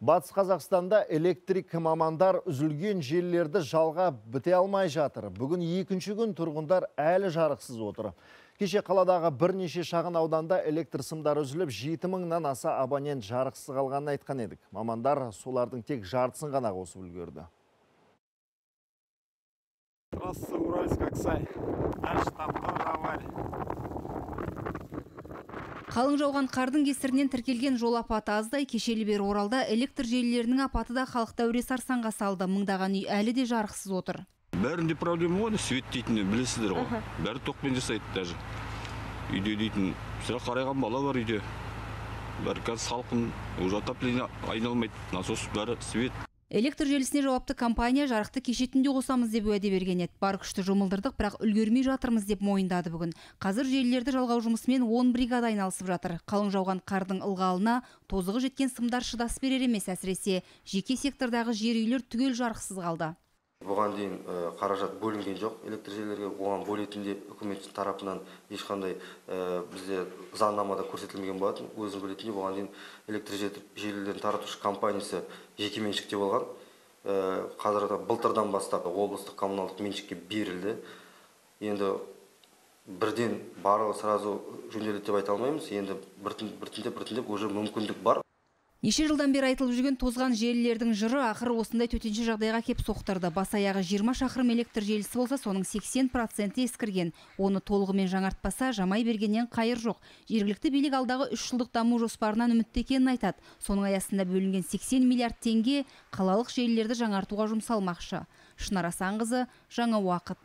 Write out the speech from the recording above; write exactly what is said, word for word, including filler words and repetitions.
Батыс Қазақстанда электрик мамандар үзілген желілерді жалға біте алмай жатыр. Бүгін екінші күн тұрғындар әлі жарықсыз отыр. Кеше қаладағы бірнеше шағын ауданда электр сымдары үзіліп, жеті мыңнан аса абонент жарықсыз қалғанын айтқан едік. Мамандар солардың тек жартысын ғана қосып үлгерді. Трасса Уральск-Аксай. Наш там тоже авария. Қалың жауған қардың кесірінен тіркелген жол апаты аздай. Кешелі бері Оралда электр желілерінің апаты да халықты әуре сарсаңға салды. Мыңдаған үй әлі де жарықсыз отыр. Бәрінде проблема ғой, свет дейтін білесіздер ғой. Бәрі токпен жасайды даже. Үйде дейтін, сірә қарайған бала бар үйде. Бәрі қазір салқын, уже отопление айналмайды. Насос бәрі свет. Электр желісіне жауапты компания жарықты кеше түнде қосамыз деп уәде берген еді. Бар күшті жұмылдырдық, бірақ үлгермей жатырмыз деп мойындады бүгін. Қазір желілерді жалғау жұмысымен он бригада айналысып жатыр. Қалың жауған қардың ылғалына тозығы жеткен сымдар шыдас берер емес, әсіресе жеке сектордағы жер үйлер түгел жарықсыз қалды. Бұған дейін қаражат бөлінген жоқ электр желілерге, оған бөлетінде үкімет тарапынан ешқандай бізде заңнамада көрсетілмеген болатын. Өзің білетіндей, бұған дейін электр желілерін таратушы компаниясы жеке меншікте болған. Қазірде былтырдан бастап облыстық коммуналдық меншікке берілді. Енді бірден барлығы сразу жөнделеді деп айта алмаймыз. Енді біртіндеп-біртіндеп уже мүмкіндік бар. Неше жылдан бері айтылып жүрген тозған желілердің жыры ақыры осындай төтенше жағдайға кеп соқтырды. Бас аяғы жиырма шақырым электр желісі болса, соның сексен проценті ескірген. Оны толығымен жаңартпаса, жамай бергеннен қайыр жоқ. Жергілікті билік алдағы үш жылдық даму жоспарынан үмітті екенін айтады. Соның аясында бөлінген сексен миллиард теңге қалалық желілерді жаңартуға жұмсалмақшы. Шынар Асанқызы, Жаңа уақыт.